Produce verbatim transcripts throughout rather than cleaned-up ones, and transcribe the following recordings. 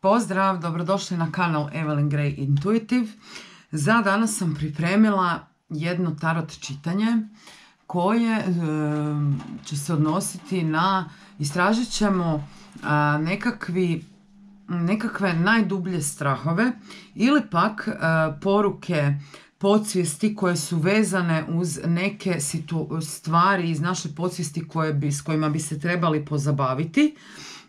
Pozdrav, dobrodošli na kanal Evelyn Grey Intuitive. Za danas sam pripremila jedno tarot čitanje koje e, će se odnositi na, istražit ćemo a, nekakvi, nekakve najdublje strahove ili pak a, poruke podsvijesti koje su vezane uz neke situ, stvari iz naše podsvijesti koje bi, s kojima bi se trebali pozabaviti.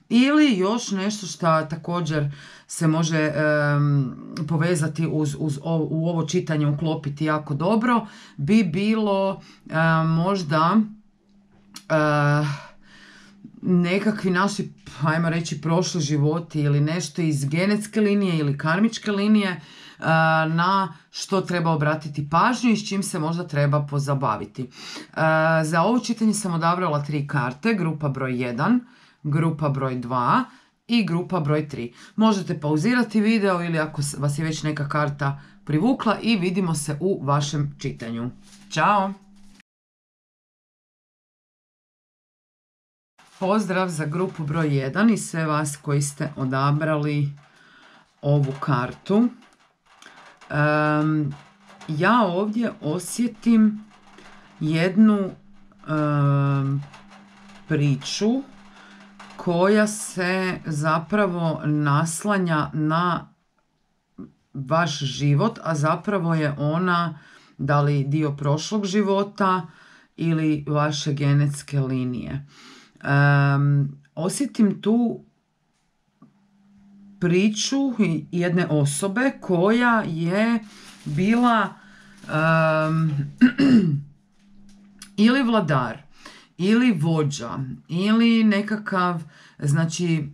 Ili još nešto što također se može um, povezati uz, uz ovo, u ovo čitanje uklopiti jako dobro, bi bilo uh, možda uh, nekakvi naši, ajmo reći, prošli životi ili nešto iz genetske linije ili karmičke linije uh, na što treba obratiti pažnju i s čim se možda treba pozabaviti. Uh, za ovo čitanje sam odabrala tri karte, grupa broj jedan, grupa broj dva i grupa broj tri. Možete pauzirati video ili ako vas je već neka karta privukla i vidimo se u vašem čitanju. Ćao! Pozdrav za grupu broj jedan i sve vas koji ste odabrali ovu kartu. Um, ja ovdje osjetim jednu um, priču koja se zapravo naslanja na vaš život, a zapravo je ona da li dio prošlog života ili vaše genetske linije. Um, osjetim tu priču jedne osobe koja je bila um, ili vladar, ili vođa, ili nekakav, znači,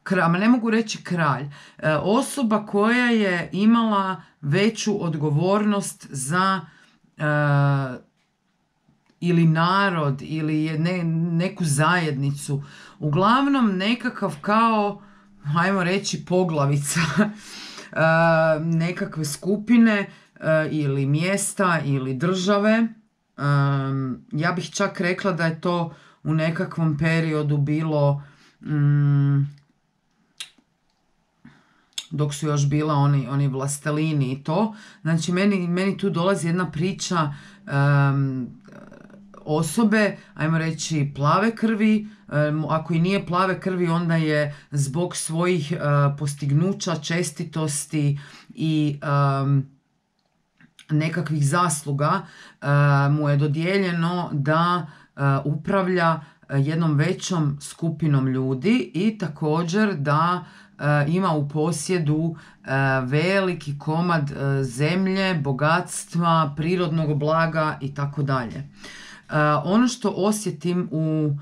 kralj, ne mogu reći kralj, e, osoba koja je imala veću odgovornost za e, ili narod, ili ne, neku zajednicu. Uglavnom nekakav kao, hajmo reći, poglavica e, nekakve skupine e, ili mjesta ili države. Um, ja bih čak rekla da je to u nekakvom periodu bilo um, dok su još bila oni, oni vlastelini i to. Znači meni, meni tu dolazi jedna priča um, osobe, ajmo reći, plave krvi. Um, ako i nije plave krvi, onda je zbog svojih uh, postignuća, čestitosti i um, nekakvih zasluga uh, mu je dodijeljeno da uh, upravlja jednom većom skupinom ljudi i također da uh, ima u posjedu uh, veliki komad uh, zemlje, bogatstva, prirodnog blaga i tako dalje. Ono što osjetim u,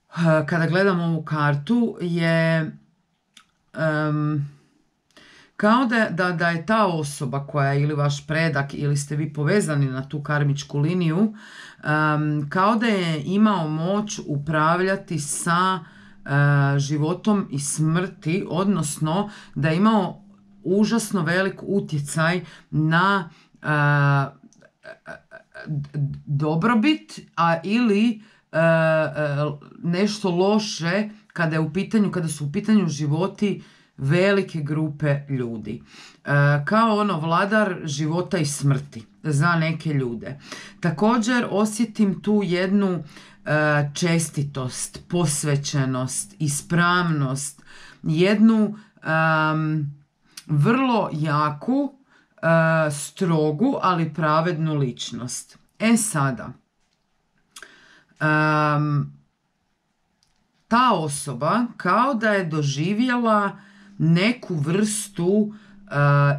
uh, kada gledam ovu kartu je um, kao da, da, da je ta osoba koja je ili vaš predak ili ste vi povezani na tu karmičku liniju, um, kao da je imao moć upravljati sa uh, životom i smrti, odnosno da je imao užasno velik utjecaj na uh, dobrobit, a ili uh, uh, nešto loše kada je u pitanju, kada su u pitanju životi velike grupe ljudi. E, kao ono vladar života i smrti za neke ljude. Također osjetim tu jednu e, čestitost, posvećenost, ispravnost, jednu e, vrlo jaku, e, strogu, ali pravednu ličnost. E sada, e, ta osoba kao da je doživjela neku vrstu uh,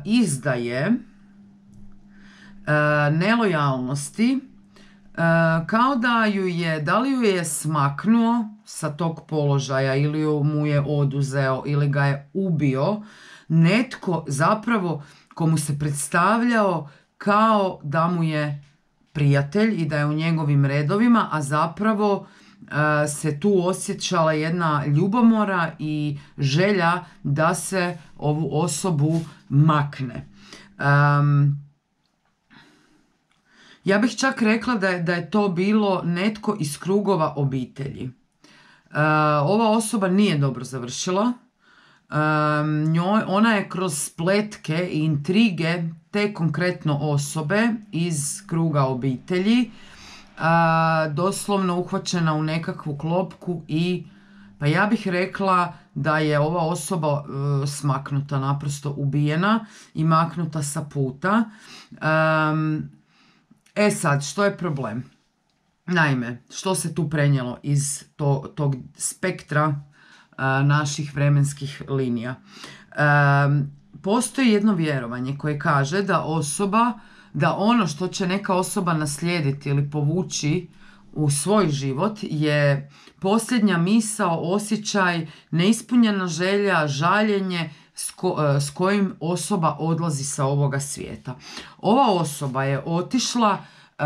izdaje, uh, nelojalnosti, uh, kao da ju je, da li ju je smaknuo sa tog položaja ili ju mu je oduzeo ili ga je ubio netko zapravo komu se predstavljao kao da mu je prijatelj i da je u njegovim redovima, a zapravo se tu osjećala jedna ljubomora i želja da se ovu osobu makne. Um, ja bih čak rekla da je, da je to bilo netko iz krugova obitelji. Uh, ova osoba nije dobro završila. njoj, ona je kroz spletke i intrige te konkretno osobe iz kruga obitelji a, doslovno uhvaćena u nekakvu klopku i pa ja bih rekla da je ova osoba uh, smaknuta, naprosto ubijena i maknuta sa puta. Um, e sad, što je problem? Naime, što se tu prenijelo iz to, tog spektra uh, naših vremenskih linija? Um, postoji jedno vjerovanje koje kaže da osoba, da ono što će neka osoba naslijediti ili povući u svoj život je posljednja misao, osjećaj, neispunjena želja, žaljenje s, ko, s kojim osoba odlazi sa ovoga svijeta. Ova osoba je otišla uh,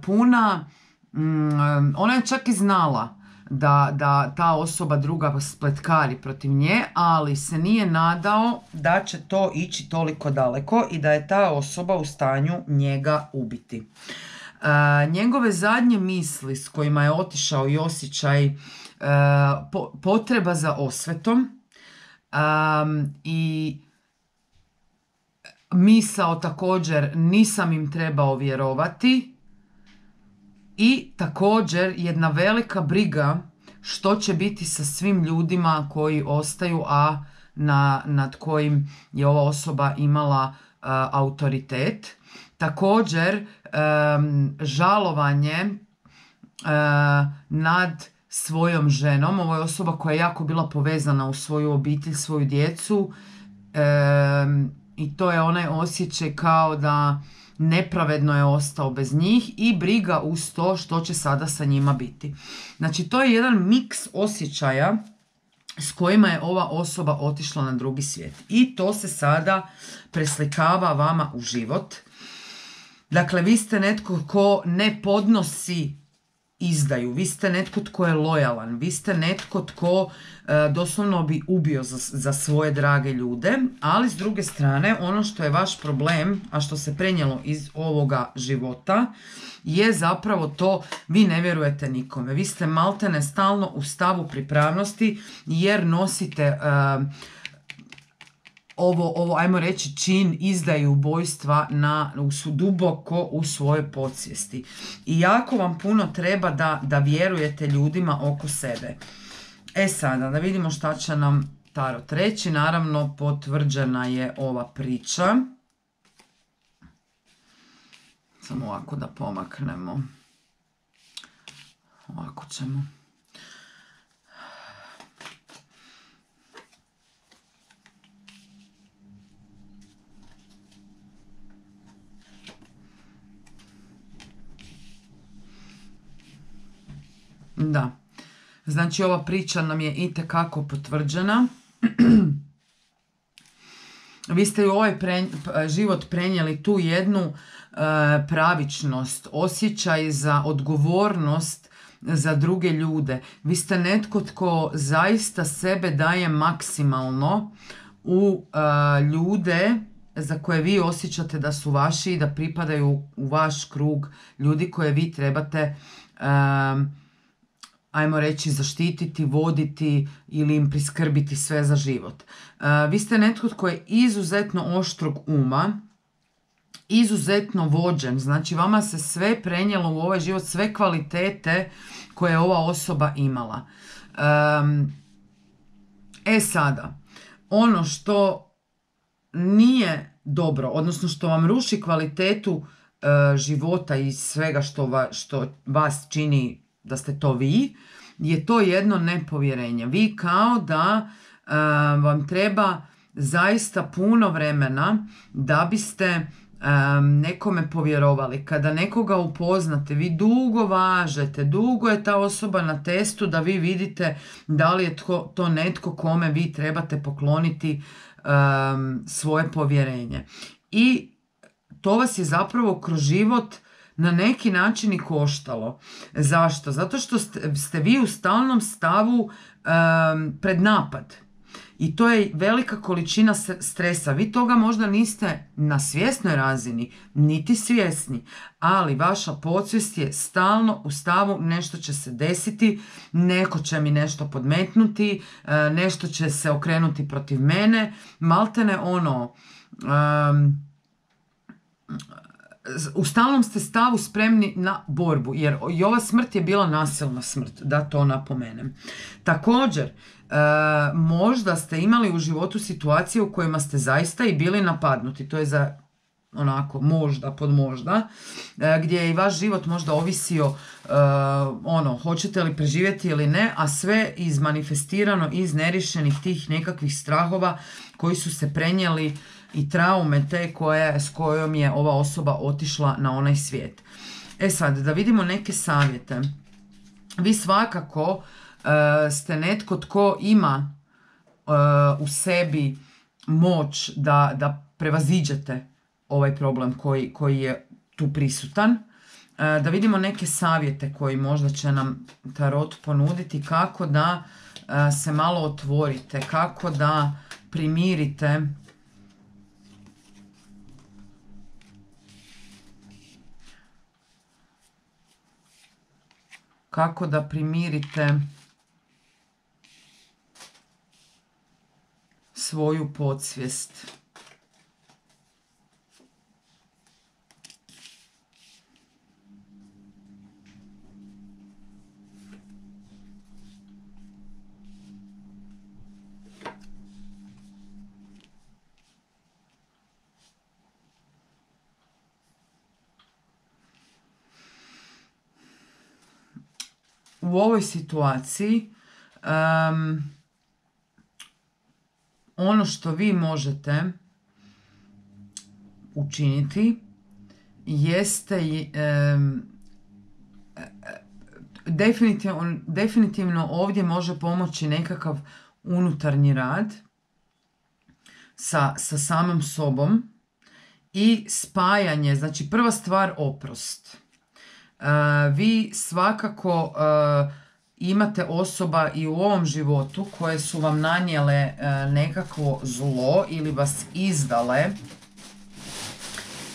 puna, um, ona je čak i znala da, da ta osoba druga spletkari protiv nje, ali se nije nadao da će to ići toliko daleko i da je ta osoba u stanju njega ubiti. Uh, njegove zadnje misli s kojima je otišao i osjećaj uh, po, potreba za osvetom um, i misao također nisam im trebao vjerovati i također jedna velika briga što će biti sa svim ljudima koji ostaju, a na, nad kojim je ova osoba imala uh, autoritet. Također um, žalovanje uh, nad svojom ženom. Ovo je osoba koja je jako bila povezana u svoju obitelj, svoju djecu um, i to je onaj osjećaj kao da nepravedno je ostao bez njih i briga uz to što će sada sa njima biti. Znači to je jedan miks osjećaja s kojima je ova osoba otišla na drugi svijet i to se sada preslikava vama u život. Dakle, vi ste netko ko ne podnosi izdaju, vi ste netko tko je lojalan, vi ste netko tko e, doslovno bi ubio za, za svoje drage ljude, ali s druge strane ono što je vaš problem, a što se prenijelo iz ovoga života, je zapravo to, vi ne vjerujete nikome, vi ste maltene stalno u stavu pripravnosti jer nosite e, ovo, ovo, ajmo reći, čin izdaje ubojstva na, u, duboko u svojoj podsvijesti. I jako vam puno treba da, da vjerujete ljudima oko sebe. E sada, da vidimo šta će nam tarot reći. Naravno, potvrđena je ova priča. Samo ovako da pomaknemo. Ovako ćemo. Da, znači ova priča nam je itekako potvrđena. Vi ste u ovaj pre, život prenijeli tu jednu e, pravičnost, osjećaj za odgovornost za druge ljude. Vi ste netko tko zaista sebe daje maksimalno u e, ljude za koje vi osjećate da su vaši i da pripadaju u vaš krug ljudi koje vi trebate e, ajmo reći zaštititi, voditi ili im priskrbiti sve za život. Uh, vi ste netko tko je izuzetno oštrog uma, izuzetno vođen, znači vama se sve prenijelo u ovaj život, sve kvalitete koje je ova osoba imala. Um, e sada, ono što nije dobro, odnosno što vam ruši kvalitetu uh, života i svega što, va, što vas čini da ste to vi, je to jedno nepovjerenje. Vi kao da uh, vam treba zaista puno vremena da biste um, nekome povjerovali. Kada nekoga upoznate, vi dugo važete, dugo je ta osoba na testu da vi vidite da li je to, to netko kome vi trebate pokloniti um, svoje povjerenje. I to vas je zapravo kroz život na neki način i koštalo. Zašto? Zato što ste, ste vi u stalnom stavu um, pred napad. I to je velika količina stresa. Vi toga možda niste na svjesnoj razini, niti svjesni, ali vaša podsvijest je stalno u stavu nešto će se desiti, neko će mi nešto podmetnuti, nešto će se okrenuti protiv mene, maltene ono... Um, u stalnom ste stavu spremni na borbu, jer i ova smrt je bila nasilna smrt, da to napomenem. Također, e, možda ste imali u životu situacije u kojima ste zaista i bili napadnuti, to je za onako možda pod možda, e, gdje je i vaš život možda ovisio e, ono, hoćete li preživjeti ili ne, a sve izmanifestirano iz neriješenih tih nekakvih strahova koji su se prenijeli i traume te koje, s kojom je ova osoba otišla na onaj svijet. E sad, da vidimo neke savjete. Vi svakako uh, ste netko tko ima uh, u sebi moć da, da prevaziđete ovaj problem koji, koji je tu prisutan. Uh, da vidimo neke savjete koji možda će nam tarot ponuditi kako da uh, se malo otvorite, kako da primirite kako da primirite svoju podsvijest. U ovoj situaciji um, ono što vi možete učiniti jeste um, definitivno, definitivno ovdje može pomoći nekakav unutarnji rad sa, sa samim sobom i spajanje. Znači prva stvar, oprost. Uh, vi svakako uh, imate osoba i u ovom životu koje su vam nanijele uh, nekakvo zlo ili vas izdale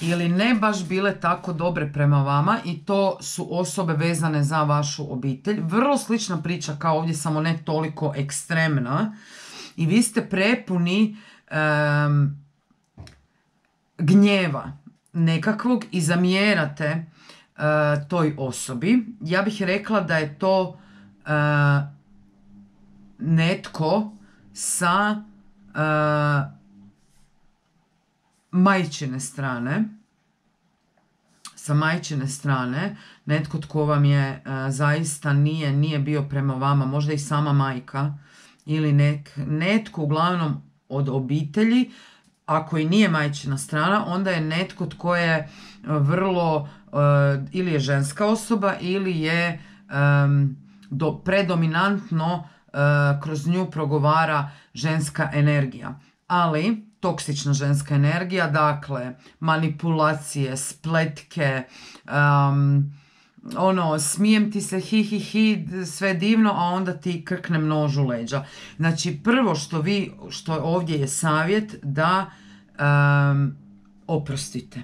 ili ne baš bile tako dobre prema vama i to su osobe vezane za vašu obitelj. Vrlo slična priča kao ovdje, samo ne toliko ekstremna i vi ste prepuni um, gnjeva nekakvog i zamjerate Uh, toj osobi. Ja bih rekla da je to uh, netko sa uh, majčine strane, sa majčine strane, netko tko vam je uh, zaista nije, nije bio prema vama, možda i sama majka ili nek, netko uglavnom od obitelji. Ako i nije majčina strana, onda je netko tko je vrlo Uh, ili je ženska osoba ili je um, do, predominantno uh, kroz nju progovara ženska energija. Ali toksična ženska energija, dakle manipulacije, spletke, um, ono, smijem ti se, hi hi hi, sve divno, a onda ti krkne nož u leđa. Znači prvo što vi, što ovdje je savjet da um, oprostite.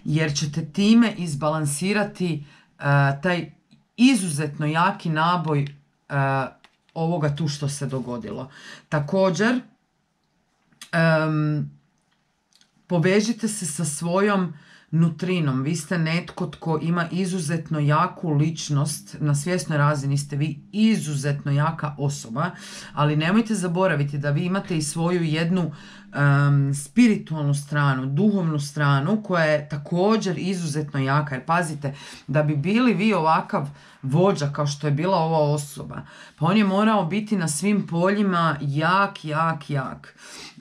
Jer ćete time izbalansirati uh, taj izuzetno jaki naboj uh, ovoga tu što se dogodilo. Također, um, povežite se sa svojom nutrinom. Vi ste netko tko ima izuzetno jaku ličnost, na svjesnoj razini ste vi izuzetno jaka osoba, ali nemojte zaboraviti da vi imate i svoju jednu um, spiritualnu stranu, duhovnu stranu koja je također izuzetno jaka. Jer pazite, da bi bili vi ovakav vođa kao što je bila ova osoba, pa on je morao biti na svim poljima jak, jak, jak.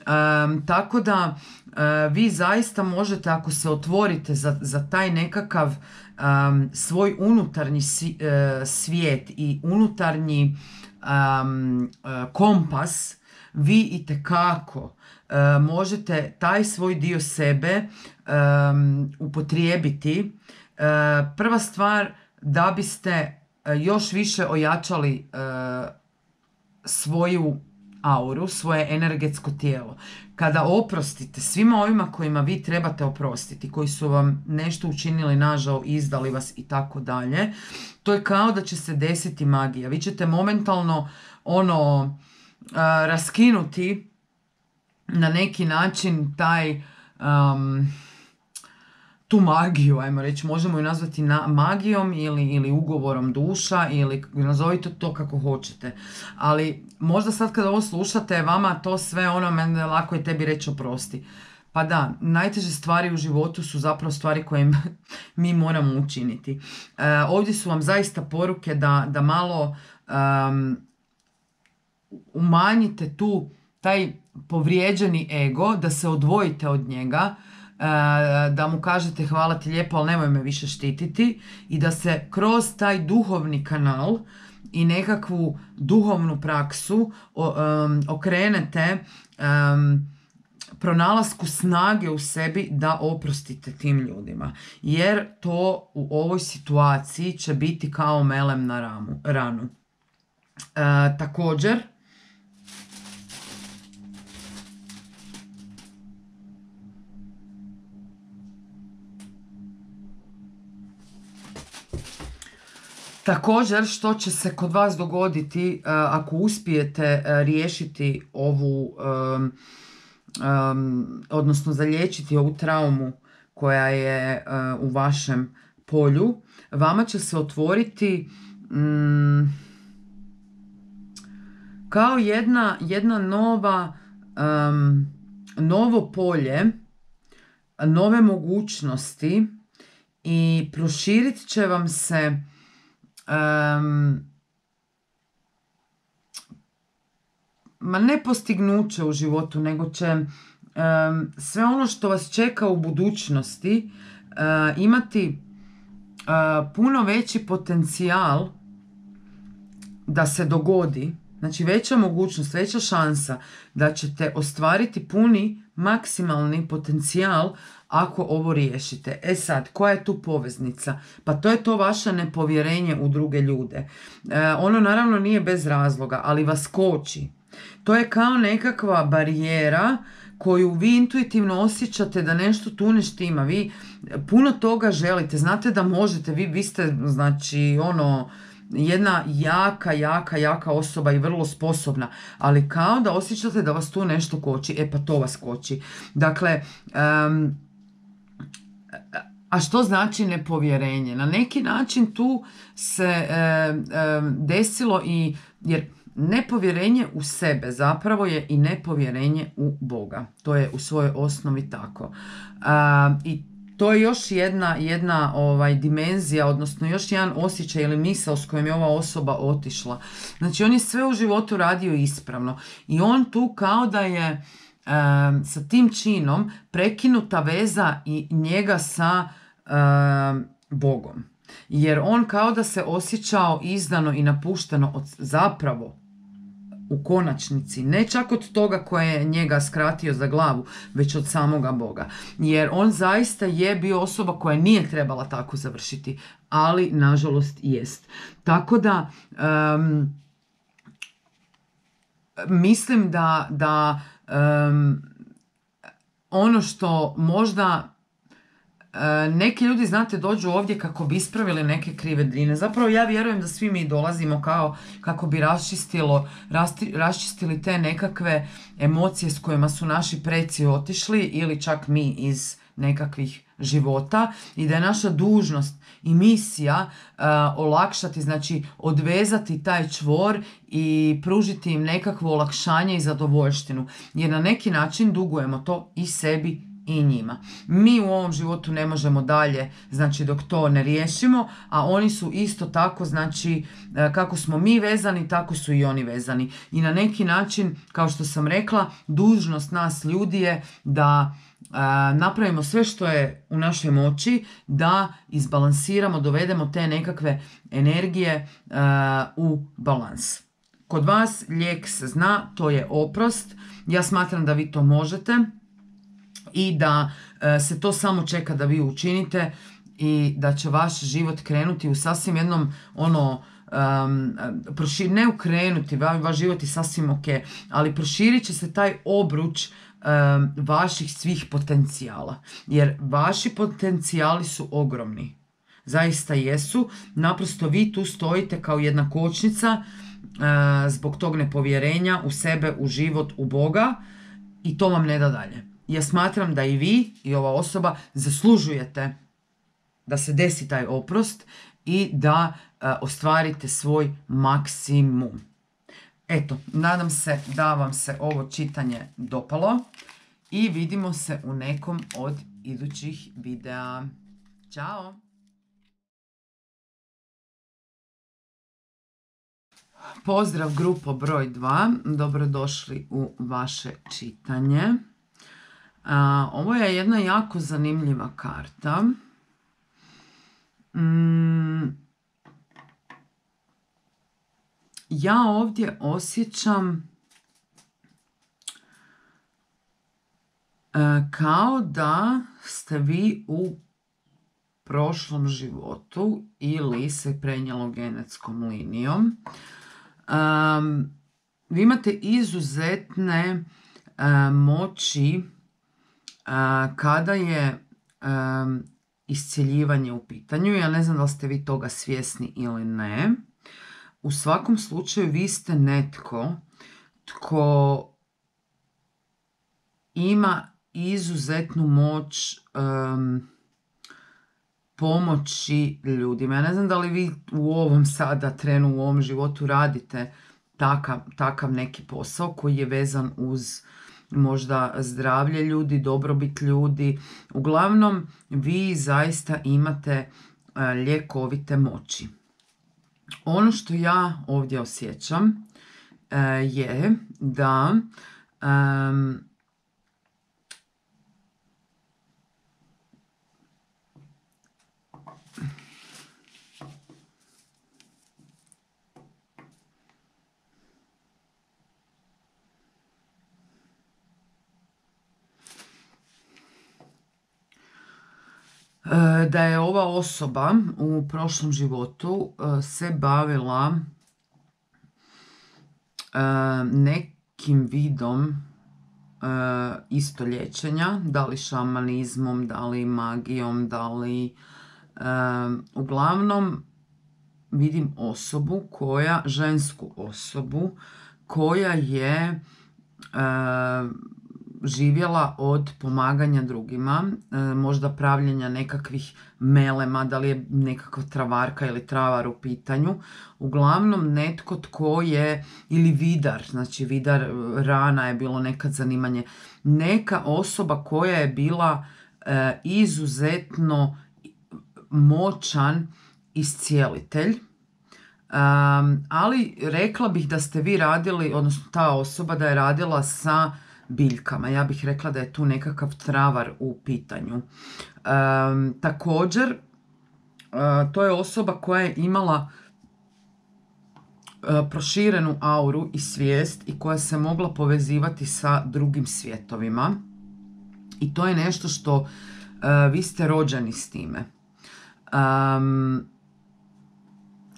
Um, tako da Uh, vi zaista možete, ako se otvorite za, za taj nekakav um, svoj unutarnji si, uh, svijet i unutarnji um, uh, kompas, vi itekako uh, možete taj svoj dio sebe um, upotrijebiti. Uh, prva stvar, da biste uh, još više ojačali uh, svoju auru, svoje energetsko tijelo. Kada oprostite svima ovima kojima vi trebate oprostiti, koji su vam nešto učinili nažao, izdali vas i tako dalje, to je kao da će se desiti magija. Vi ćete momentalno ono a, raskinuti na neki način taj um, tu magiju, ajmo reći, možemo ju nazvati na, magijom ili, ili ugovorom duša ili nazovite to kako hoćete. Ali možda sad kada ovo slušate, vama to sve ono, meni lako je tebi reći oprosti. Pa da, najteže stvari u životu su zapravo stvari koje mi moramo učiniti. E, ovdje su vam zaista poruke da, da malo um, umanjite tu taj povrijeđeni ego, da se odvojite od njega, da mu kažete hvala ti lijepo, ali nemoj me više štititi, i da se kroz taj duhovni kanal i nekakvu duhovnu praksu okrenete pronalasku snage u sebi da oprostite tim ljudima. Jer to u ovoj situaciji će biti kao melem na ramu, ranu. E, također, Također, što će se kod vas dogoditi uh, ako uspijete uh, riješiti ovu, um, um, odnosno zaliječiti ovu traumu koja je uh, u vašem polju, vama će se otvoriti um, kao jedna, jedna nova, um, novo polje, nove mogućnosti i proširit će vam se Um, ma ne postignuće u životu, nego će um, sve ono što vas čeka u budućnosti uh, imati uh, puno veći potencijal da se dogodi. Znači veća mogućnost, veća šansa da ćete ostvariti puni maksimalni potencijal ako ovo riješite. E sad, koja je tu poveznica? Pa to je to vaše nepovjerenje u druge ljude. E, ono naravno nije bez razloga, ali vas koči. To je kao nekakva barijera koju vi intuitivno osjećate da nešto tu ne štima. Vi puno toga želite, znate da možete, vi, vi ste znači ono jedna jaka, jaka, jaka osoba i vrlo sposobna, ali kao da osjećate da vas tu nešto koči. E pa to vas koči. Dakle, um, a što znači nepovjerenje? Na neki način tu se e, e, desilo i, jer nepovjerenje u sebe zapravo je i nepovjerenje u Boga. To je u svojoj osnovi tako. A, i to je još jedna, jedna ovaj, dimenzija, odnosno još jedan osjećaj ili misao s kojom je ova osoba otišla. Znači on je sve u životu radio ispravno i on tu kao da je e, sa tim činom prekinuta veza i njega sa e, Bogom. Jer on kao da se osjećao izdano i napušteno od zapravo u konačnici, ne čak od toga koje je njega skratio za glavu, već od samoga Boga. Jer on zaista je bio osoba koja nije trebala tako završiti, ali nažalost jest. Tako da um, mislim da, da um, ono što možda neki ljudi, znate, dođu ovdje kako bi ispravili neke krive drine. Zapravo ja vjerujem da svi mi dolazimo kao kako bi raščistilo, rasti, raščistili te nekakve emocije s kojima su naši preci otišli ili čak mi iz nekakvih života i da je naša dužnost i misija uh, olakšati, znači odvezati taj čvor i pružiti im nekakvo olakšanje i zadovoljštinu. Jer na neki način dugujemo to i sebi i njima. Mi u ovom životu ne možemo dalje, znači dok to ne riješimo, a oni su isto tako, znači kako smo mi vezani, tako su i oni vezani. I na neki način, kao što sam rekla, dužnost nas ljudi je da a, napravimo sve što je u našoj moći, da izbalansiramo, dovedemo te nekakve energije a, u balans. Kod vas lijek se zna, to je oprost. Ja smatram da vi to možete i da e, se to samo čeka da vi učinite i da će vaš život krenuti u sasvim jednom ono um, prošir, ne ukrenuti, vaš život je sasvim ok, ali proširit će se taj obruč um, vaših svih potencijala. Jer vaši potencijali su ogromni. Zaista jesu. Naprosto vi tu stojite kao jedna kočnica uh, zbog tog nepovjerenja u sebe, u život, u Boga i to vam ne da dalje. Ja smatram da i vi i ova osoba zaslužujete da se desi taj oprost i da uh, ostvarite svoj maksimum. Eto, nadam se da vam se ovo čitanje dopalo i vidimo se u nekom od idućih videa. Ćao! Pozdrav grupo broj dva, dobrodošli u vaše čitanje. A, ovo je jedna jako zanimljiva karta. Mm, ja ovdje osjećam a, kao da ste vi u prošlom životu ili se prenijelo genetskom linijom. Um, vi imate izuzetne uh, moći uh, kada je um, iscjeljivanje u pitanju. Ja ne znam da li ste vi toga svjesni ili ne. U svakom slučaju vi ste netko tko ima izuzetnu moć um, pomoći ljudima. Ja ne znam da li vi u ovom sada trenu, u ovom životu radite takav, takav neki posao koji je vezan uz možda zdravlje ljudi, dobrobit ljudi. Uglavnom, vi zaista imate uh, ljekovite moći. Ono što ja ovdje osjećam uh, je da um, da je ova osoba u prošlom životu se bavila nekim vidom isto liječenja, da li šamanizmom, da li magijom, da li uglavnom vidim osobu koja, žensku osobu koja je živjela od pomaganja drugima, možda pravljenja nekakvih melema, da li je nekakva travarka ili travar u pitanju. Uglavnom netko tko je, ili vidar, znači vidar rana je bilo nekad zanimanje. Neka osoba koja je bila e, izuzetno moćan iscijelitelj. Um, ali rekla bih da ste vi radili, odnosno ta osoba da je radila sa biljkama. Ja bih rekla da je tu nekakav travar u pitanju. Um, također, uh, to je osoba koja je imala uh, proširenu auru i svijest i koja se mogla povezivati sa drugim svjetovima. I to je nešto što uh, vi ste rođeni s time. Um,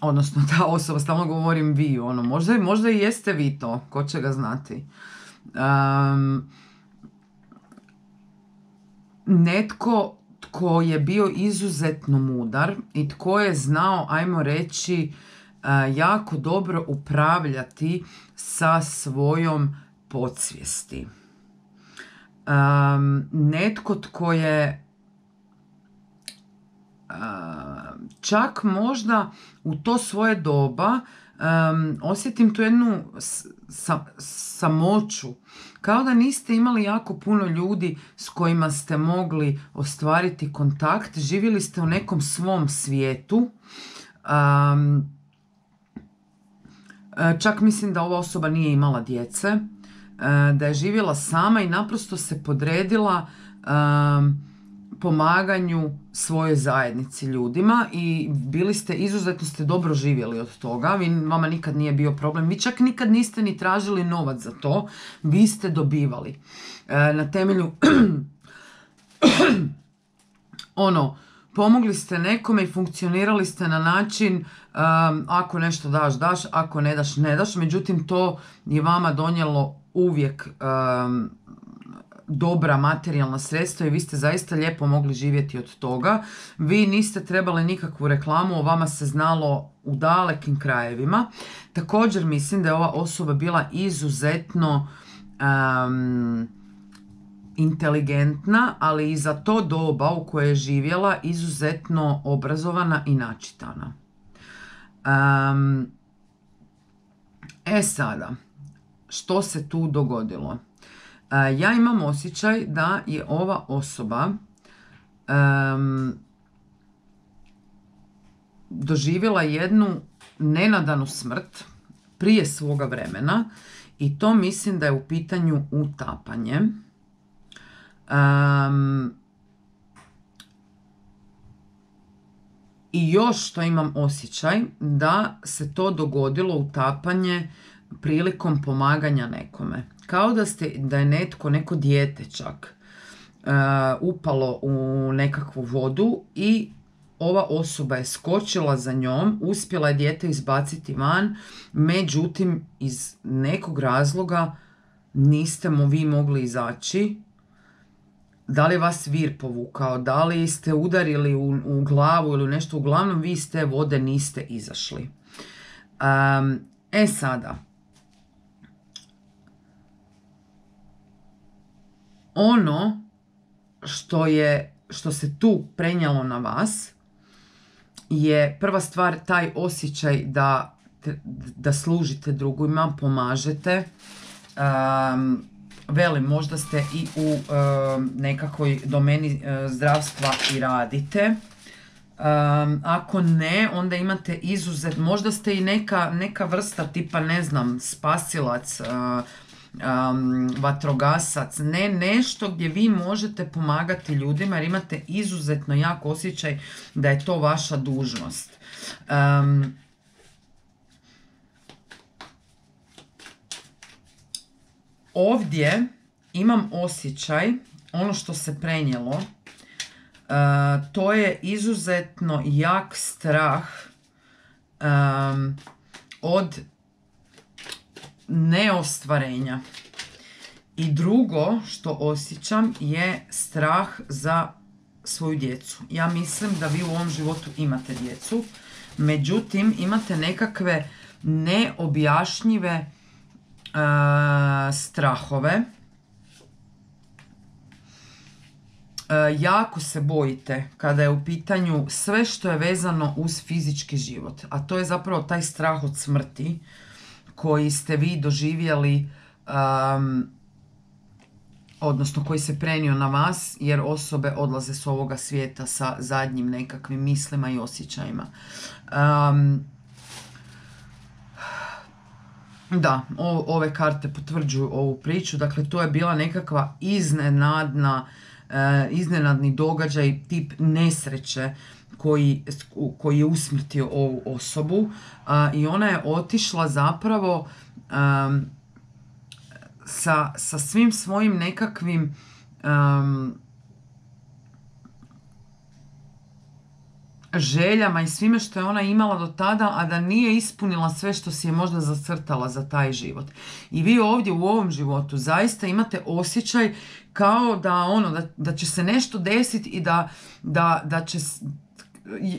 odnosno ta osoba, stalno govorim vi, ono, možda, možda i jeste vi to, ko će ga znati. Um, netko tko je bio izuzetno mudar i tko je znao, ajmo reći, uh, jako dobro upravljati sa svojom podsvijesti. Um, netko tko je uh, čak možda u to svoje doba um, osjetim tu jednu sa, samoću, kao da niste imali jako puno ljudi s kojima ste mogli ostvariti kontakt, živjeli ste u nekom svom svijetu. Um, čak mislim da ova osoba nije imala djece, da je živjela sama i naprosto se podredila um, pomaganju svojoj zajednici, ljudima, i bili ste, izuzetno ste dobro živjeli od toga. Vi, vama nikad nije bio problem. Vi čak nikad niste ni tražili novac za to. Vi ste dobivali. E, na temelju ono, pomogli ste nekome i funkcionirali ste na način um, ako nešto daš, daš, ako ne daš, ne daš. Međutim, to je vama donijelo uvijek um, dobra materijalna sredstva i vi ste zaista lijepo mogli živjeti od toga. Vi niste trebali nikakvu reklamu, o vama se znalo u dalekim krajevima. Također mislim da je ova osoba bila izuzetno um, inteligentna, ali i za to doba u koje je živjela izuzetno obrazovana i načitana. Um, e sada, što se tu dogodilo? Uh, ja imam osjećaj da je ova osoba um, doživjela jednu nenadanu smrt prije svoga vremena i to mislim da je u pitanju utapanje. Um, I još što imam osjećaj da se to dogodilo utapanje prilikom pomaganja nekome. Kao da, ste, da je netko, neko dijete čak uh, upalo u nekakvu vodu i ova osoba je skočila za njom, uspjela je dijete izbaciti van, međutim iz nekog razloga niste mu vi mogli izaći. Da li vas vir povukao, da li ste udarili u, u glavu ili nešto, uglavnom vi iz te vode niste izašli. Um, e sada, ono što je, što se tu prenijelo na vas je prva stvar taj osjećaj da, da služite drugima, pomažete. Um, Velim, možda ste i u e, nekakvoj domeni e, zdravstva i radite. Um, ako ne, onda imate izuzet, možda ste i neka, neka vrsta tipa, ne znam, spasilac, uh, um, vatrogasac, ne, nešto gdje vi možete pomagati ljudima jer imate izuzetno jak osjećaj da je to vaša dužnost. Um, Ovdje imam osjećaj, ono što se prenijelo, uh, to je izuzetno jak strah um, od neostvarenja. I drugo što osjećam je strah za svoju djecu. Ja mislim da vi u ovom životu imate djecu, međutim imate nekakve neobjašnjive Uh, strahove. Uh, jako se bojite kada je u pitanju sve što je vezano uz fizički život, a to je zapravo taj strah od smrti koji ste vi doživjeli, um, odnosno koji se prenio na vas jer osobe odlaze s ovoga svijeta sa zadnjim nekakvim mislima i osjećajima. Um, Da, o, ove karte potvrđuju ovu priču. Dakle, to je bila nekakva iznenadna, e, iznenadni događaj, tip nesreće koji, koji je usmrtio ovu osobu. A, i ona je otišla zapravo um, sa, sa svim svojim nekakvim um, željama i svime što je ona imala do tada, a da nije ispunila sve što si je možda zacrtala za taj život. I vi ovdje u ovom životu zaista imate osjećaj kao da ono da, da će se nešto desiti i da, da, da će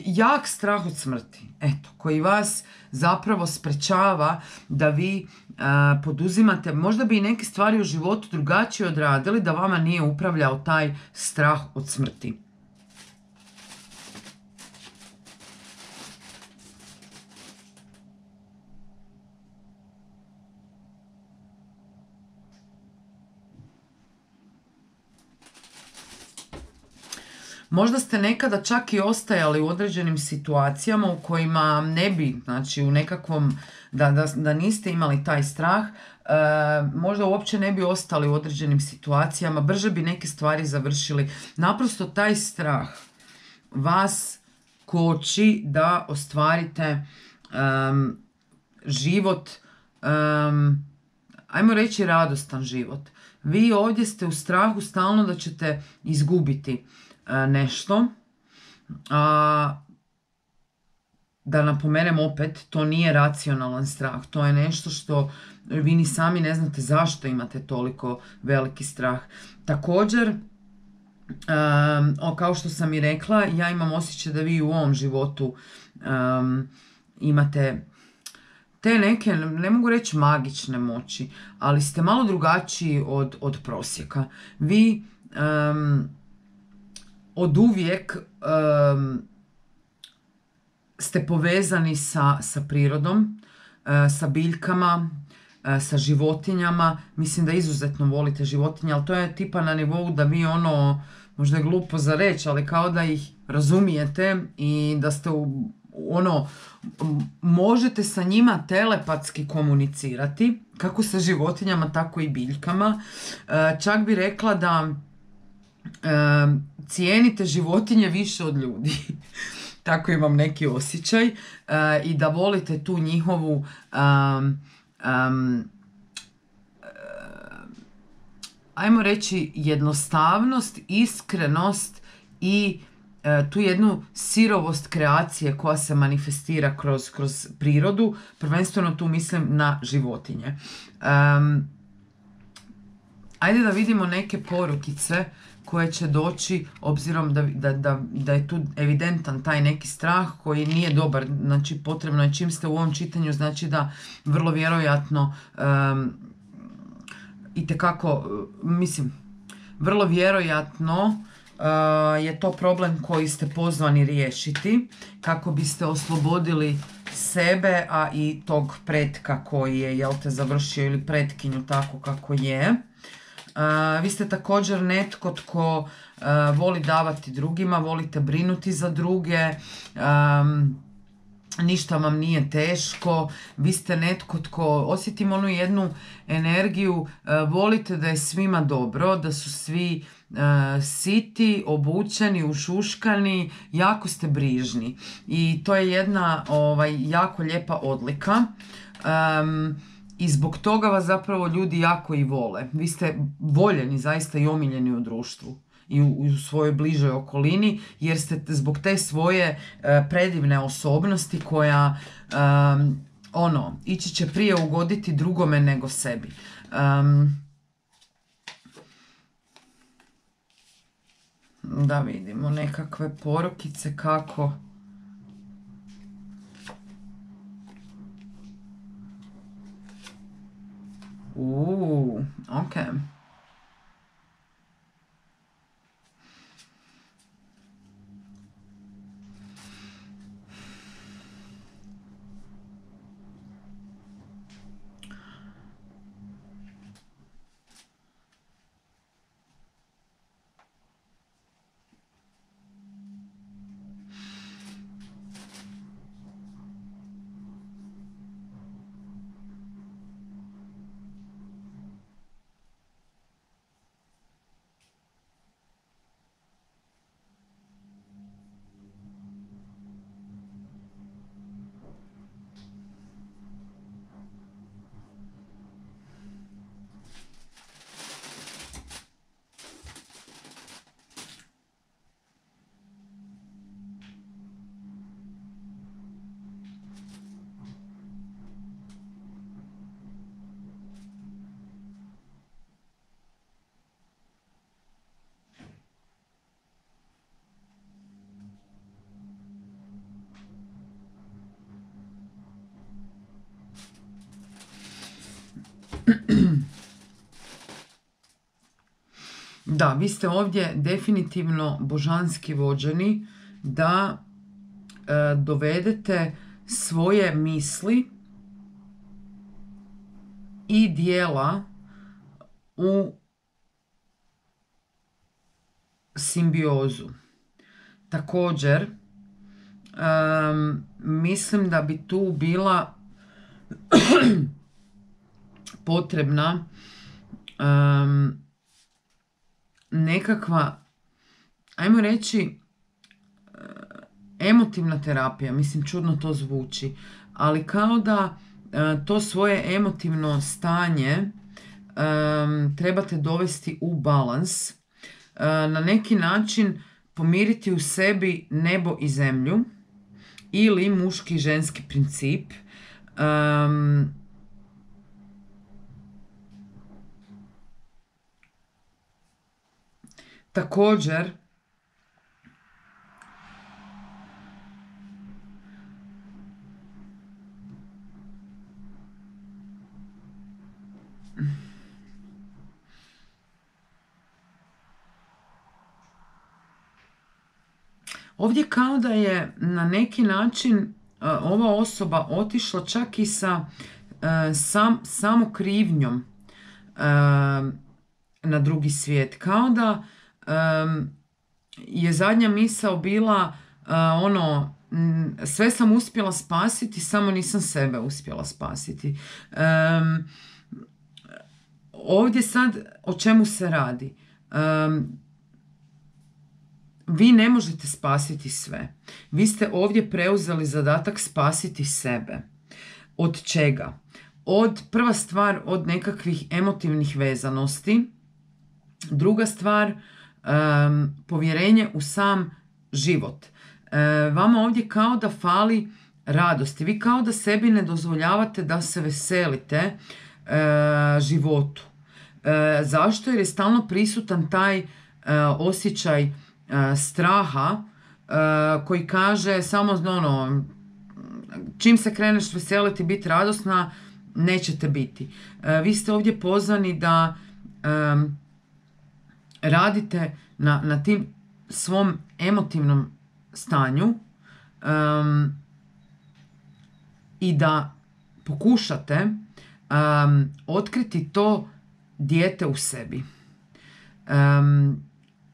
jak strah od smrti, eto, koji vas zapravo sprečava da vi uh, poduzimate, možda bi i neke stvari u životu drugačije odradili da vama nije upravljao taj strah od smrti. Možda ste nekada čak i ostajali u određenim situacijama u kojima ne bi, znači u nekakvom, da, da, da niste imali taj strah, e, možda uopće ne bi ostali u određenim situacijama, brže bi neke stvari završili. Naprosto taj strah vas koči da ostvarite um, život, um, ajmo reći radostan život. Vi ovdje ste u strahu stalno da ćete izgubiti nešto, A, da napomenem opet, to nije racionalan strah, to je nešto što vi ni sami ne znate zašto imate toliko veliki strah. Također, um, o, kao što sam i rekla, ja imam osjećaj da vi u ovom životu um, imate te neke, ne mogu reći magične moći, ali ste malo drugačiji od, od prosjeka. Vi um, od uvijek um, ste povezani sa, sa prirodom, sa biljkama, sa životinjama. Mislim da izuzetno volite životinje, ali to je tipa na nivou da vi ono, možda je glupo za reći, ali kao da ih razumijete i da ste u, ono, možete sa njima telepatski komunicirati, kako sa životinjama, tako i biljkama. Čak bi rekla da cijenite životinje više od ljudi. Tako imam neki osjećaj uh, i da volite tu njihovu um, um, uh, ajmo reći jednostavnost, iskrenost i uh, tu jednu sirovost kreacije koja se manifestira kroz, kroz prirodu, prvenstveno tu mislim na životinje. Um, ajde da vidimo neke porukice koje će doći, obzirom da, da, da, da je tu evidentan taj neki strah koji nije dobar. Znači potrebno je, čim ste u ovom čitanju, znači da vrlo vjerojatno um, itekako, mislim, vrlo vjerojatno uh, je to problem koji ste pozvani riješiti kako biste oslobodili sebe, a i tog pretka koji je, jel te, završio, ili pretkinju tako kako je. Uh, vi ste također netko tko uh, voli davati drugima, volite brinuti za druge, um, ništa vam nije teško, vi ste netko tko, osjetim onu jednu energiju, uh, volite da je svima dobro, da su svi uh, siti, obučeni, ušuškani, jako ste brižni i to je jedna ovaj, jako lijepa odlika. Um, I zbog toga vas zapravo ljudi jako i vole. Vi ste voljeni zaista i omiljeni u društvu i u, u svojoj bližoj okolini, jer ste zbog te svoje uh, predivne osobnosti koja um, ono, ići će prije ugoditi drugome nego sebi. Um, da vidimo nekakve porukice kako... Uuu, ok. Da, vi ste ovdje definitivno božanski vođeni da e, dovedete svoje misli i dijela u simbiozu. Također, e, mislim da bi tu bila potrebna um, nekakva, ajmo reći, emotivna terapija. Mislim, čudno to zvuči, ali kao da uh, to svoje emotivno stanje um, trebate dovesti u balans. Uh, na neki način pomiriti u sebi nebo i zemlju ili muški i ženski princip. Um, također, ovdje kao da je na neki način uh, ova osoba otišla čak i sa uh, sam, samokrivnjom uh, na drugi svijet. Kao da um, je zadnja misao bila uh, ono, m, sve sam uspjela spasiti, samo nisam sebe uspjela spasiti. Um, ovdje sad o čemu se radi? Um, Vi ne možete spasiti sve. Vi ste ovdje preuzeli zadatak spasiti sebe. Od čega? Od, prva stvar, od nekakvih emotivnih vezanosti. Druga stvar, um, povjerenje u sam život. E, vama ovdje kao da fali radosti. Vi kao da sebi ne dozvoljavate da se veselite e, životu. E, zašto? Jer je stalno prisutan taj e, osjećaj straha koji kaže samo ono, čim se kreneš veseliti, biti radosna, nećete biti. Vi ste ovdje pozvani da um, radite na, na tim svom emotivnom stanju um, i da pokušate um, otkriti to dijete u sebi. Um,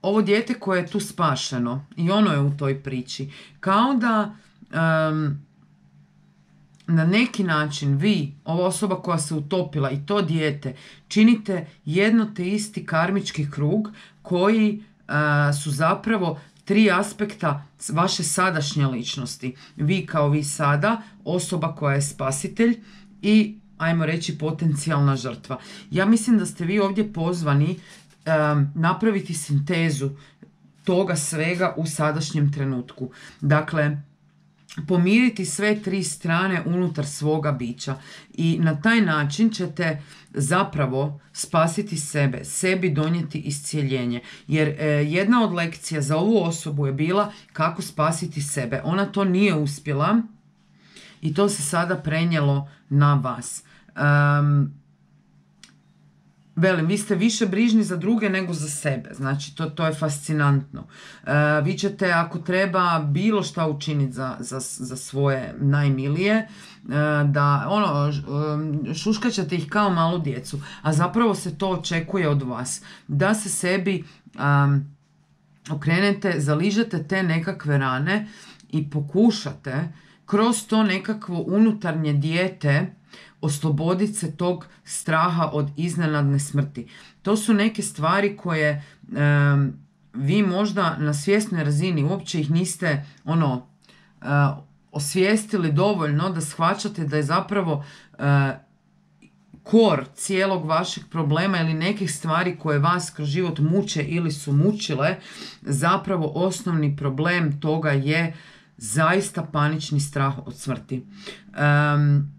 Ovo dijete koje je tu spašeno i ono je u toj priči. Kao da um, na neki način vi, ova osoba koja se utopila i to dijete, činite jedno te isti karmički krug koji uh, su zapravo tri aspekta vaše sadašnje ličnosti. Vi kao vi sada, osoba koja je spasitelj i, ajmo reći, potencijalna žrtva. Ja mislim da ste vi ovdje pozvani Um, napraviti sintezu toga svega u sadašnjem trenutku. Dakle, pomiriti sve tri strane unutar svoga bića i na taj način ćete zapravo spasiti sebe, sebi donijeti iscijeljenje. Jer e, jedna od lekcija za ovu osobu je bila kako spasiti sebe. Ona to nije uspjela i to se sada prenijelo na vas. Um, Velim, vi ste više brižni za druge nego za sebe. Znači, to, to je fascinantno. Uh, vi ćete, ako treba, bilo šta učiniti za, za, za svoje najmilije, uh, da, ono, šuškat ćete ih kao malu djecu. A zapravo se to očekuje od vas. Da se sebi um, okrenete, zaližete te nekakve rane i pokušate kroz to nekakvo unutarnje dijete osloboditi se tog straha od iznenadne smrti. To su neke stvari koje um, vi možda na svjesnoj razini uopće ih niste ono uh, osvijestili dovoljno da shvaćate da je zapravo uh, kor cijelog vašeg problema ili nekih stvari koje vas kroz život muče ili su mučile, zapravo osnovni problem toga je zaista panični strah od smrti. Um,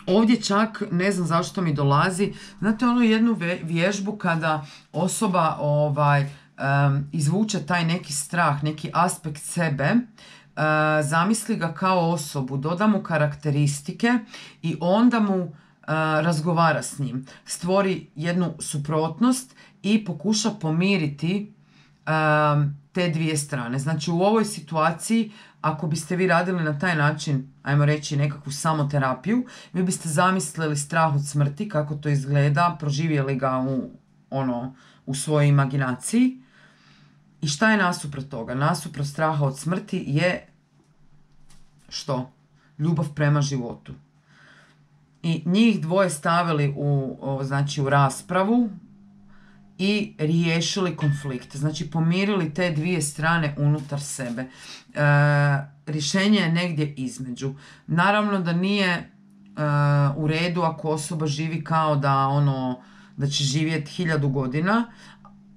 Ovdje čak, ne znam zašto mi dolazi, znate ono jednu vježbu kada osoba ovaj, um, izvuče taj neki strah, neki aspekt sebe, uh, zamisli ga kao osobu, doda mu karakteristike i onda mu uh, razgovara s njim. Stvori jednu suprotnost i pokuša pomiriti um, te dvije strane. Znači u ovoj situaciji, ako biste vi radili na taj način, ajmo reći nekakvu samoterapiju, vi biste zamislili strah od smrti, kako to izgleda, proživjeli ga u, ono, u svojoj imaginaciji. I šta je nasuprot toga? Nasuprot straha od smrti je što? Ljubav prema životu. I njih dvoje stavili u, o, znači, u raspravu i riješili konflikt. Znači pomirili te dvije strane unutar sebe. E, rješenje je negdje između. Naravno da nije e, u redu ako osoba živi kao da ono da će živjeti hiljadu godina,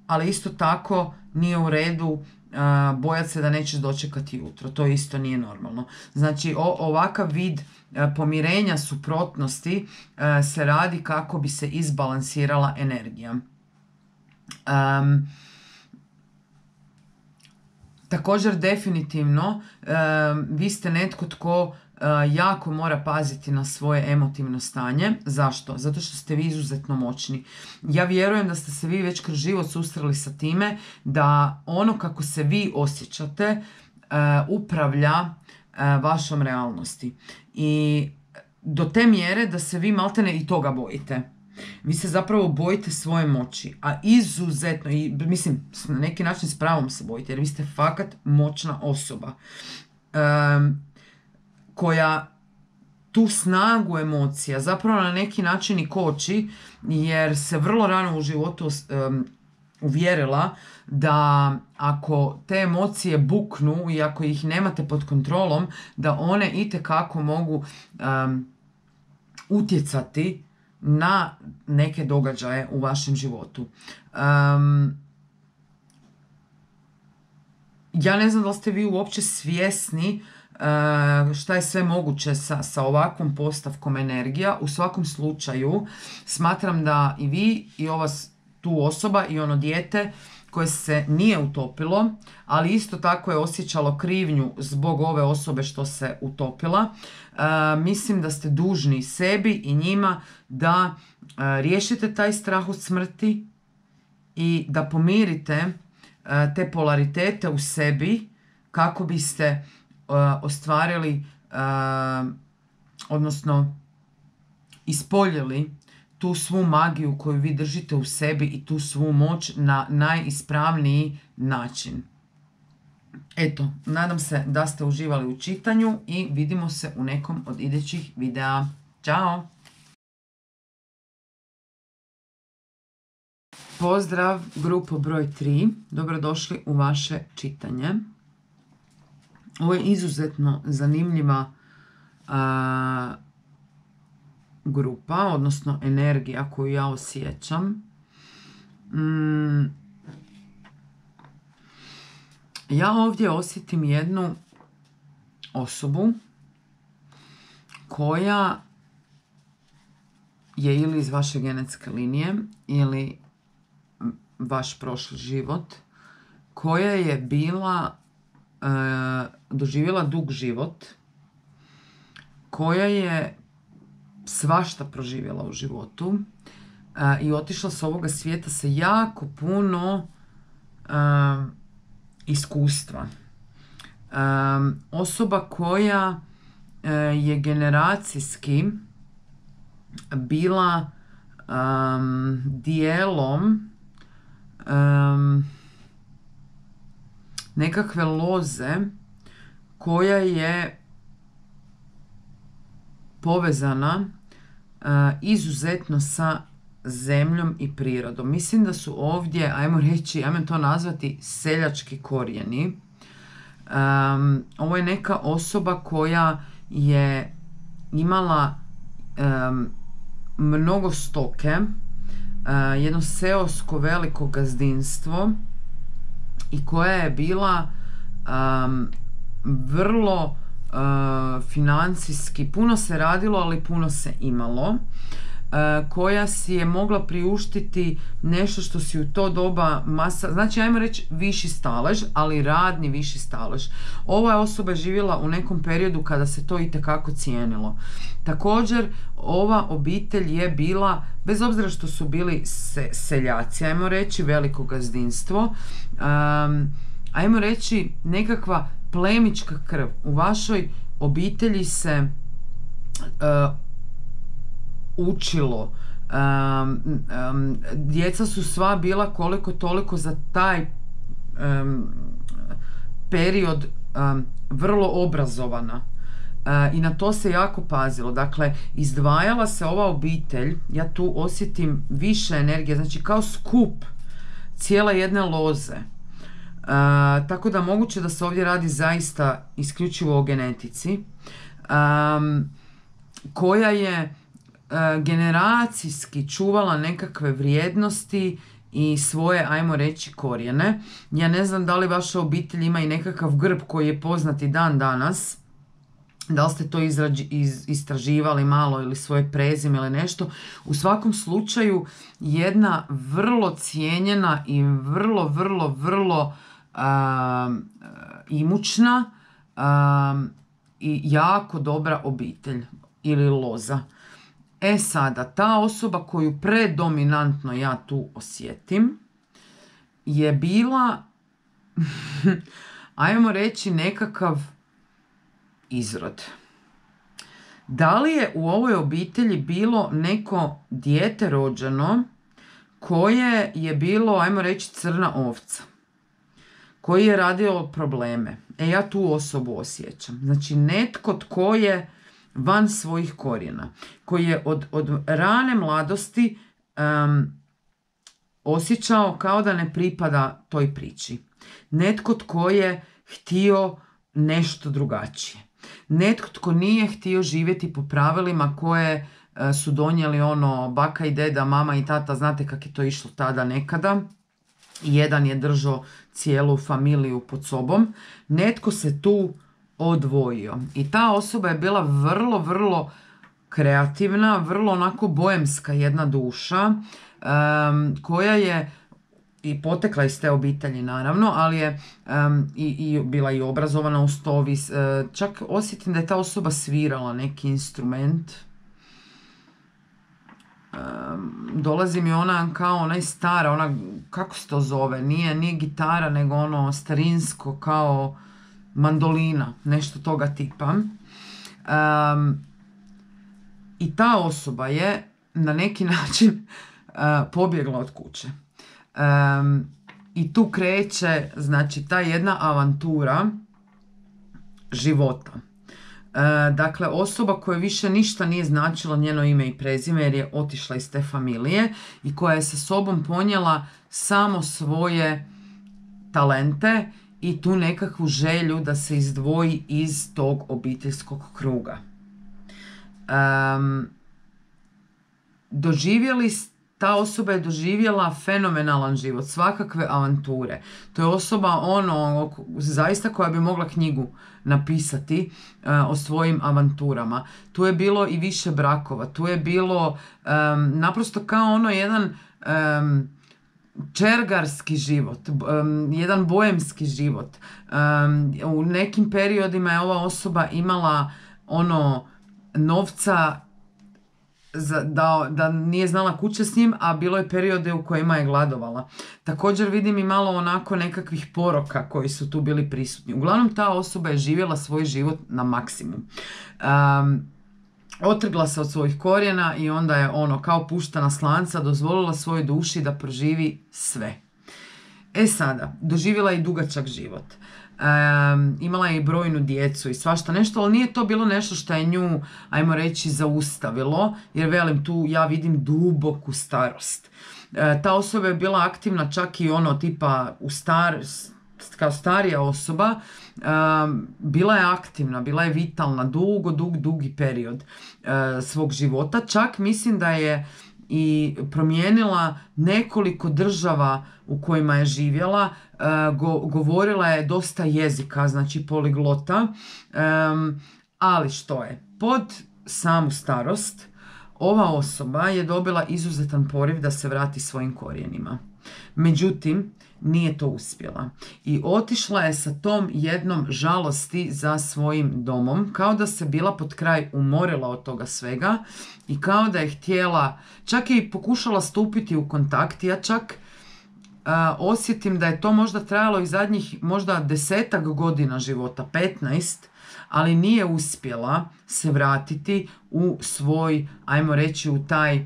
ali isto tako nije u redu bojati se da nećeš dočekati jutro. To isto nije normalno. Znači o, ovakav vid pomirenja suprotnosti se radi kako bi se izbalansirala energija. Um, također definitivno um, vi ste netko tko uh, jako mora paziti na svoje emotivno stanje. Zašto? Zato što ste vi izuzetno moćni. Ja vjerujem da ste se vi već kroz život susreli sa time da ono kako se vi osjećate uh, upravlja uh, vašom realnosti. I do te mjere da se vi maltene i toga bojite. Vi se zapravo bojite svoje moći, a izuzetno, i mislim, na neki način s pravom se bojite, jer vi ste fakat moćna osoba um, koja tu snagu emocija zapravo na neki način i koči, jer se vrlo rano u životu um, uvjerila da ako te emocije buknu i ako ih nemate pod kontrolom, da one itekako mogu um, utjecati na neke događaje u vašem životu. Um, ja ne znam da li ste vi uopće svjesni uh, šta je sve moguće sa, sa ovakvom postavkom energija. U svakom slučaju smatram da i vi i ova tu osoba i ono dijete koje se nije utopilo, ali isto tako je osjećalo krivnju zbog ove osobe što se utopila. Uh, mislim da ste dužni sebi i njima da uh, riješite taj strah od smrti i da pomirite uh, te polaritete u sebi kako biste uh, ostvarili, uh, odnosno ispoljili tu svu magiju koju vi držite u sebi i tu svu moć na najispravniji način. Eto, nadam se da ste uživali u čitanju i vidimo se u nekom od idućih videa. Ćao! Pozdrav, grupo broj tri. Dobrodošli u vaše čitanje. Ovo je izuzetno zanimljiva a, grupa, odnosno energija koju ja osjećam. Mm, ja ovdje osjetim jednu osobu koja je ili iz vaše genetske linije ili vaš prošli život, koja je bila e, doživjela dug život, koja je svašta proživjela u životu uh, i otišla s ovoga svijeta sa jako puno uh, iskustva. Um, osoba koja uh, je generacijski bila um, dijelom um, nekakve loze koja je povezana Uh, izuzetno sa zemljom i prirodom. Mislim da su ovdje, ajmo reći, ajmo to nazvati seljački korijeni. Um, ovo je neka osoba koja je imala um, mnogo stoke, uh, jedno seosko veliko gazdinstvo i koja je bila um, vrlo Uh, financijski, puno se radilo, ali puno se imalo, uh, koja si je mogla priuštiti nešto što si u to doba masa, znači ajmo reći viši stalež, ali radni viši stalež. Ova osoba je živjela u nekom periodu kada se to itekako cijenilo. Također, ova obitelj je bila, bez obzira što su bili se, seljaci, ajmo reći veliko gazdinstvo, um, ajmo reći nekakva plemička krv. U vašoj obitelji se uh, učilo. Um, um, djeca su sva bila koliko toliko za taj um, period um, vrlo obrazovana. Uh, I na to se jako pazilo. Dakle, izdvajala se ova obitelj, ja tu osjetim više energije, znači kao skup cijele jedne loze. Uh, tako da moguće da se ovdje radi zaista isključivo o genetici, um, koja je uh, generacijski čuvala nekakve vrijednosti i svoje, ajmo reći, korijene. Ja ne znam da li vaša obitelj ima i nekakav grb koji je poznati dan danas. Da li ste to izrađi, iz, istraživali malo ili svoje prezime ili nešto. U svakom slučaju jedna vrlo cijenjena i vrlo, vrlo, vrlo uh, imućna uh, i jako dobra obitelj ili loza. E sada, ta osoba koju predominantno ja tu osjetim je bila, ajmo reći, nekakav izrod. Da li je u ovoj obitelji bilo neko dijete rođeno koje je bilo, ajmo reći, crna ovca, koji je radio probleme? E, ja tu osobu osjećam. Znači, netko tko je van svojih korijena, koji je od, od rane mladosti um, osjećao kao da ne pripada toj priči. Netko tko je htio nešto drugačije. Netko tko nije htio živjeti po pravilima koje uh, su donijeli ono baka i deda, mama i tata, znate kako je to išlo tada nekada. Jedan je držao cijelu familiju pod sobom. Netko se tu odvojio. I ta osoba je bila vrlo, vrlo kreativna, vrlo onako boemska jedna duša, um, koja je i potekla iz te obitelji naravno, ali je um, i, i bila i obrazovana uz to. Uh, čak osjetim da je ta osoba svirala neki instrument. Um, dolazi mi ona kao onaj stara, ona, kako se to zove, nije, nije gitara, nego ono starinsko kao mandolina, nešto toga tipa. Um, I ta osoba je na neki način uh, pobjegla od kuće. Um, I tu kreće, znači, ta jedna avantura života. Uh, dakle, osoba koja više ništa nije značila njeno ime i prezime jer je otišla iz te familije i koja je sa sobom ponijela samo svoje talente i tu nekakvu želju da se izdvoji iz tog obiteljskog kruga. Um, doživjeli, ta osoba je doživjela fenomenalan život, svakakve avanture. To je osoba ono, zaista koja bi mogla knjigu napisati uh, o svojim avanturama. Tu je bilo i više brakova, tu je bilo um, naprosto kao ono jedan um, čergarski život, um, jedan boemski život. Um, u nekim periodima je ova osoba imala ono novca za, da, da nije znala kuće s njim, a bilo je periode u kojima je gladovala. Također vidim i malo onako nekakvih poroka koji su tu bili prisutni. Uglavnom, ta osoba je živjela svoj život na maksimum. Um, otrgla se od svojih korijena i onda je ono kao puštana slanca dozvolila svojoj duši da proživi sve. E sada, doživjela je i dugačak život. Um, imala je i brojnu djecu i svašta nešto, ali nije to bilo nešto što je nju, ajmo reći, zaustavilo, jer velim, tu ja vidim duboku starost. E, ta osoba je bila aktivna čak i ono tipa u star, kao starija osoba, um, bila je aktivna, bila je vitalna dugo, dug, dugi period uh, svog života. Čak mislim da je i promijenila nekoliko država u kojima je živjela, uh, go, govorila je dosta jezika, znači poliglota, um, ali što je, pod samu starost ova osoba je dobila izuzetan poriv da se vrati svojim korijenima. Međutim, nije to uspjela i otišla je sa tom jednom žalosti za svojim domom, kao da se bila pod kraj umorila od toga svega i kao da je htjela, čak je i pokušala stupiti u kontakt. Ja čak uh, osjetim da je to možda trajalo i zadnjih možda desetak godina života, petnaest, ali nije uspjela se vratiti u svoj, ajmo reći, u taj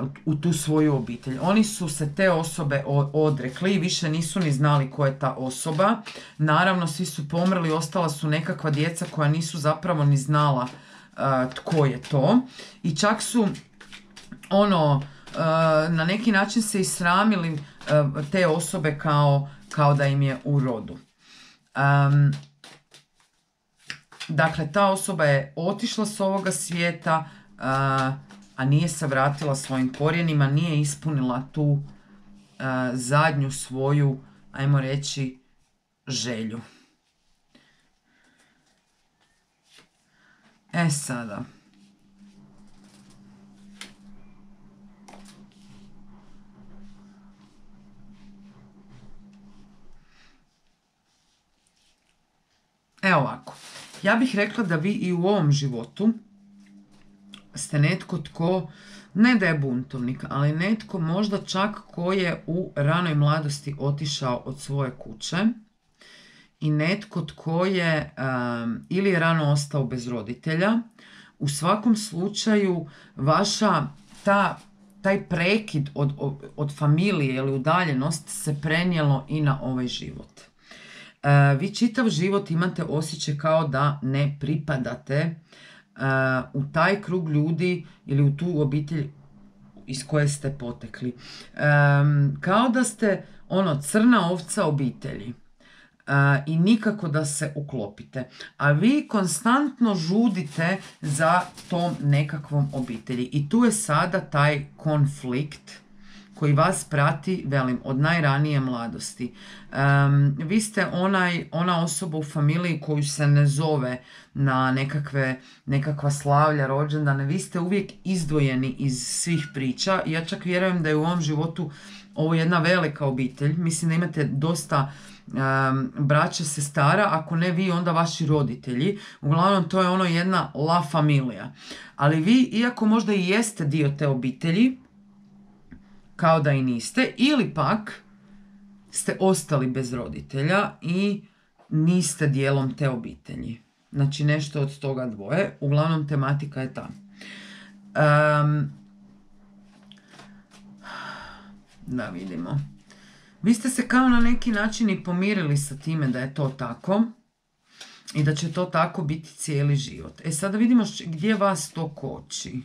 Uh, u tu svoju obitelj. Oni su se te osobe odrekli i više nisu ni znali ko je ta osoba. Naravno, svi su pomrli, ostala su nekakva djeca koja nisu zapravo ni znala uh, tko je to. I čak su ono, uh, na neki način se i sramili uh, te osobe kao, kao da im je u rodu. Um, dakle, ta osoba je otišla s ovoga svijeta, uh, a nije se vratila svojim korijenima, nije ispunila tu zadnju svoju, ajmo reći, želju. E sada. Evo ovako. Ja bih rekla da vi i u ovom životu ste netko tko, ne da je buntovnik, ali netko možda čak ko je u ranoj mladosti otišao od svoje kuće i netko tko je um, ili je rano ostao bez roditelja. U svakom slučaju vaša ta, taj prekid od, od, od familije ili udaljenost se prenijelo i na ovaj život. Uh, vi čitav život imate osjećaj kao da ne pripadate uh, u taj krug ljudi ili u tu obitelj iz koje ste potekli. Um, kao da ste ono crna ovca obitelji. Uh, i nikako da se uklopite. A vi konstantno žudite za tom nekakvom obitelji. I tu je sada taj konflikt koji vas prati, velim, od najranije mladosti. Um, vi ste onaj, ona osoba u familiji koju se ne zove na nekakve, nekakva slavlja, rođendane. Vi ste uvijek izdvojeni iz svih priča. Ja čak vjerujem da je u ovom životu ovo jedna velika obitelj. Mislim da imate dosta um, braća, sestara, ako ne vi, onda vaši roditelji. Uglavnom, to je ono jedna la familia. Ali vi, iako možda i jeste dio te obitelji, kao da i niste, ili pak ste ostali bez roditelja i niste dijelom te obitelji. Znači nešto od toga dvoje. Uglavnom tematika je ta. Um, da vidimo. Vi ste se kao na neki način i pomirili sa time da je to tako i da će to tako biti cijeli život. E sada vidimo gdje vas to koči.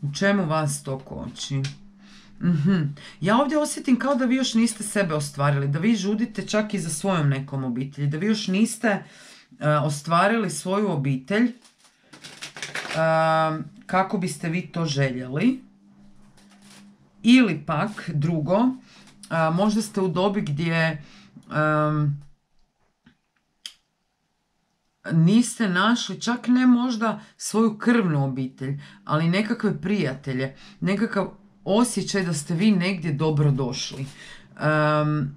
U čemu vas to koči? Mm-hmm. Ja ovdje osjetim kao da vi još niste sebe ostvarili, da vi žudite čak i za svojom nekom obitelji, da vi još niste uh, ostvarili svoju obitelj uh, kako biste vi to željeli. Ili pak drugo, uh, možda ste u dobi gdje um, niste našli čak ne možda svoju krvnu obitelj, ali nekakve prijatelje, nekakav osjećaj da ste vi negdje dobro došli. Um,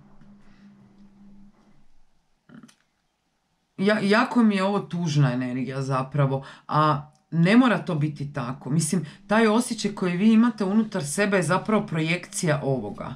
ja, jako mi je ovo tužna energija zapravo, a ne mora to biti tako. Mislim, taj osjećaj koji vi imate unutar sebe je zapravo projekcija ovoga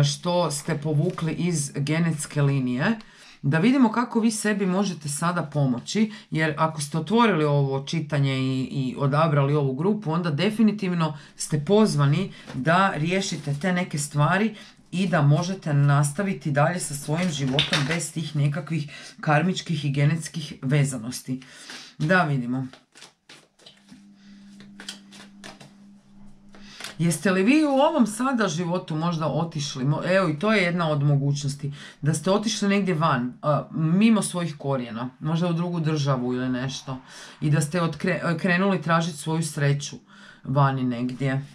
što ste povukli iz genetske linije. Da vidimo kako vi sebi možete sada pomoći, jer ako ste otvorili ovo čitanje i, i odabrali ovu grupu, onda definitivno ste pozvani da riješite te neke stvari i da možete nastaviti dalje sa svojim životom bez tih nekakvih karmičkih i genetskih vezanosti. Da vidimo. Jeste li vi u ovom sada životu možda otišli, evo i to je jedna od mogućnosti, da ste otišli negdje van, mimo svojih korijena, možda u drugu državu ili nešto, i da ste otkre, krenuli tražiti svoju sreću vani negdje.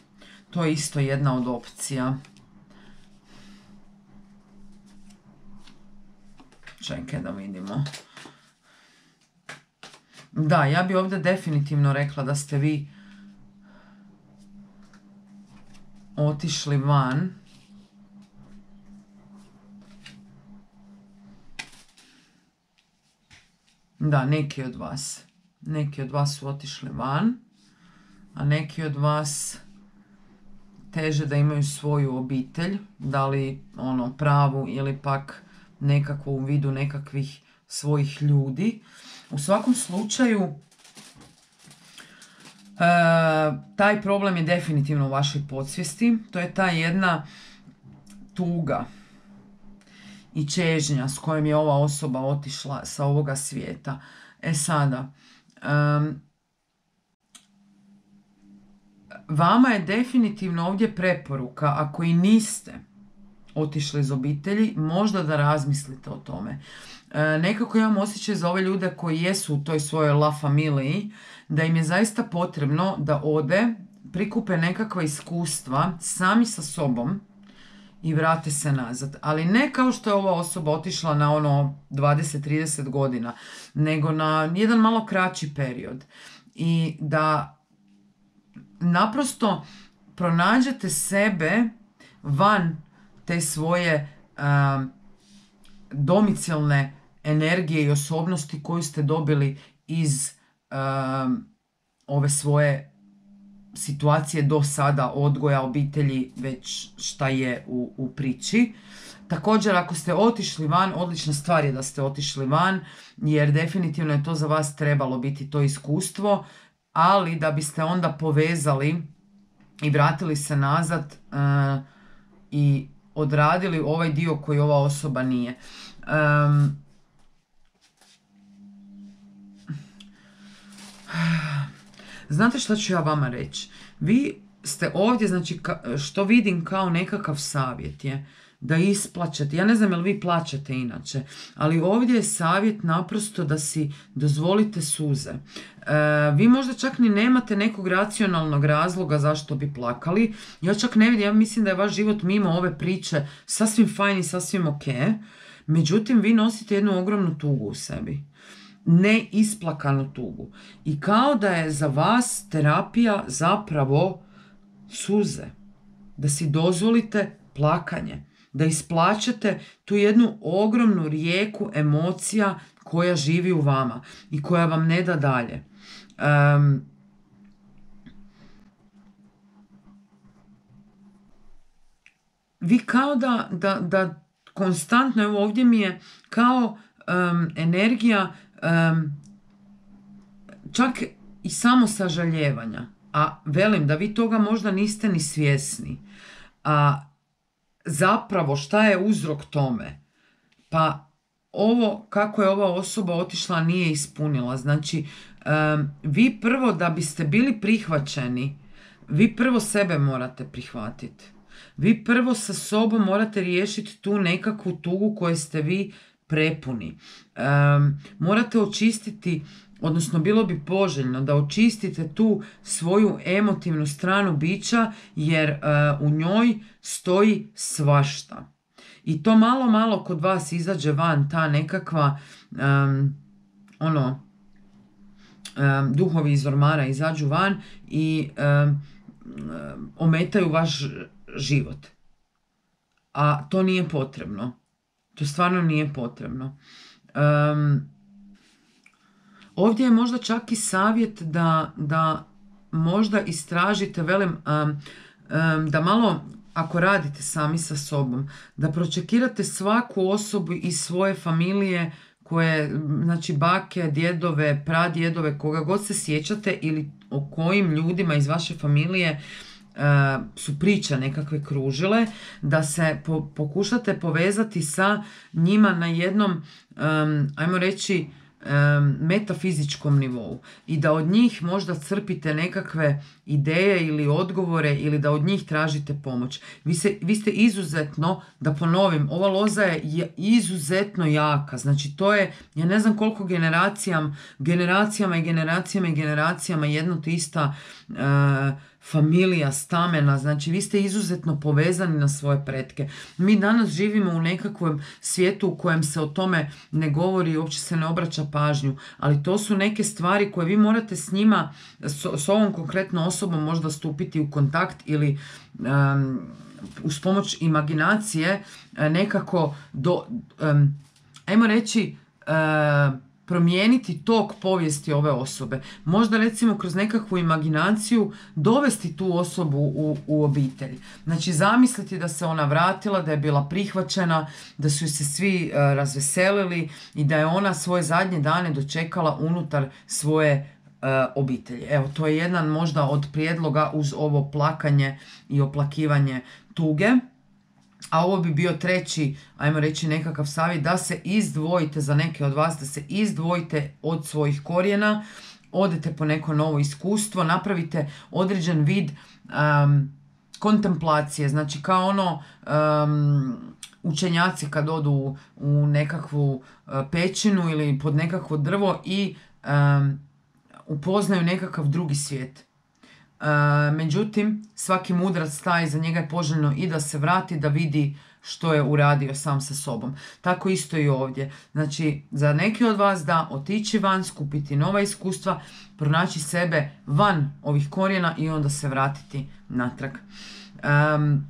To je isto jedna od opcija. Čekaj da vidimo. Da, ja bi ovdje definitivno rekla da ste vi otišli van. Da, neki od vas. Neki od vas su otišli van, a neki od vas teže da imaju svoju obitelj, da li ono pravu ili pak nekako u vidu nekakvih svojih ljudi. U svakom slučaju, Uh, taj problem je definitivno u vašoj podsvijesti. To je ta jedna tuga i čežnja s kojom je ova osoba otišla sa ovoga svijeta. E sada, um, vama je definitivno ovdje preporuka, ako i niste otišli iz obitelji, možda da razmislite o tome. E, nekako imam osjećaj za ove ljude koji jesu u toj svojoj la familiji, da im je zaista potrebno da ode, prikupe nekakva iskustva sami sa sobom i vrate se nazad. Ali ne kao što je ova osoba otišla na ono dvadeset do trideset godina, nego na jedan malo kraći period. I da naprosto pronađete sebe van te svoje um, domicilne energije i osobnosti koju ste dobili iz um, ove svoje situacije do sada, odgoja, obitelji, već šta je u, u priči. Također, ako ste otišli van, odlična stvar je da ste otišli van, jer definitivno je to za vas trebalo biti to iskustvo, ali da biste onda povezali i vratili se nazad uh, i odradili ovaj dio koji ova osoba nije. Um, Znate što ću ja vama reći? Vi ste ovdje, znači što vidim kao nekakav savjet je da isplaćete. Ja ne znam jel vi plaćate inače, ali ovdje je savjet naprosto da si dozvolite suze. E, vi možda čak ni nemate nekog racionalnog razloga zašto bi plakali. Ja čak ne vidim, ja mislim da je vaš život mimo ove priče sasvim fajn i sasvim ok. Međutim, vi nosite jednu ogromnu tugu u sebi. Neisplakanu tugu. I kao da je za vas terapija zapravo suze. Da si dozvolite plakanje. Da isplaćete tu jednu ogromnu rijeku emocija koja živi u vama i koja vam ne da dalje. Um, vi kao da, da, da konstantno, evo ovdje mi je kao um, energija um, čak i samo sažaljevanja. A velim da vi toga možda niste ni svjesni. A zapravo šta je uzrok tome? Pa ovo kako je ova osoba otišla nije ispunila. Znači um, vi prvo da biste bili prihvaćeni, vi prvo sebe morate prihvatiti. Vi prvo sa sobom morate riješiti tu nekakvu tugu koju ste vi prepuni. Um, morate očistiti, odnosno bilo bi poželjno da očistite tu svoju emotivnu stranu bića, jer uh, u njoj stoji svašta. I to malo malo kod vas izađe van ta nekakva um, ono um, duhovi iz ormara izađu van i um, um, ometaju vaš život. A to nije potrebno. To stvarno nije potrebno. Um, ovdje je možda čak i savjet da, da možda istražite, velim, um, um, da malo, ako radite sami sa sobom, da pročekirate svaku osobu iz svoje familije koje, znači bake, djedove, pradjedove, koga god se sjećate ili o kojim ljudima iz vaše familije Uh, su priče nekakve kružile, da se po, pokušate povezati sa njima na jednom, um, ajmo reći, um, metafizičkom nivou i da od njih možda crpite nekakve ideje ili odgovore ili da od njih tražite pomoć. Vi, se, vi ste izuzetno, da ponovim, ova loza je izuzetno jaka. Znači to je, ja ne znam koliko generacijama, generacijama i generacijama i generacijama jedno te ista uh, familija, stamena, znači vi ste izuzetno povezani na svoje pretke. Mi danas živimo u nekakvom svijetu u kojem se o tome ne govori i uopće se ne obraća pažnju, ali to su neke stvari koje vi morate s njima, s, s ovom konkretnom osobom možda stupiti u kontakt ili um, uz pomoć imaginacije nekako do, um, ajmo reći, uh, promijeniti tok povijesti ove osobe. Možda recimo kroz nekakvu imaginaciju dovesti tu osobu u, u obitelj. Znači zamisliti da se ona vratila, da je bila prihvaćena, da su se svi uh, razveselili i da je ona svoje zadnje dane dočekala unutar svoje uh, obitelji. Evo, to je jedan možda od prijedloga uz ovo plakanje i oplakivanje tuge. A ovo bi bio treći, ajmo reći, nekakav savjet, da se izdvojite za neke od vas, da se izdvojite od svojih korijena, odete po neko novo iskustvo, napravite određen vid um, kontemplacije, znači kao ono um, učenjaci kad odu u, u nekakvu uh, pećinu ili pod nekakvo drvo i um, upoznaju nekakav drugi svijet. međutim, svaki mudrac taj, za njega je poželjno i da se vrati, da vidi što je uradio sam sa sobom. Tako isto i ovdje. Znači, za neki od vas da otići van, skupiti nova iskustva, pronaći sebe van ovih korijena i onda se vratiti natrag. Um,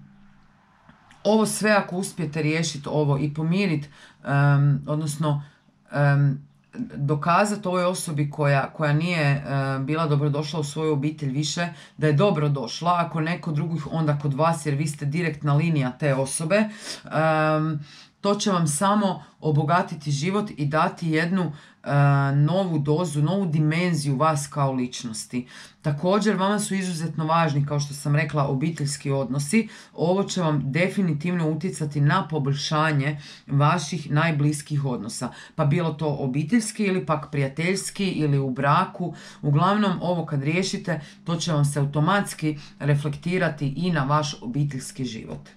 ovo sve ako uspijete riješiti ovo i pomiriti, um, odnosno um, dokazati ovoj osobi koja, koja nije uh, bila dobrodošla u svoju obitelj više, da je dobrodošla, ako neko drugih onda kod vas, jer vi ste direktna linija te osobe, um, to će vam samo obogatiti život i dati jednu uh, novu dozu, novu dimenziju vas kao ličnosti. Također, vama su izuzetno važni, kao što sam rekla, obiteljski odnosi. Ovo će vam definitivno utjecati na poboljšanje vaših najbliskih odnosa. Pa bilo to obiteljski ili pak prijateljski ili u braku. Uglavnom, ovo kad riješite, to će vam se automatski reflektirati i na vaš obiteljski život.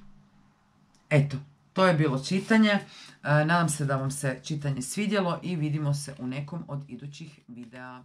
Eto. To je bilo čitanje. Nadam se da vam se čitanje svidjelo i vidimo se u nekom od idućih videa.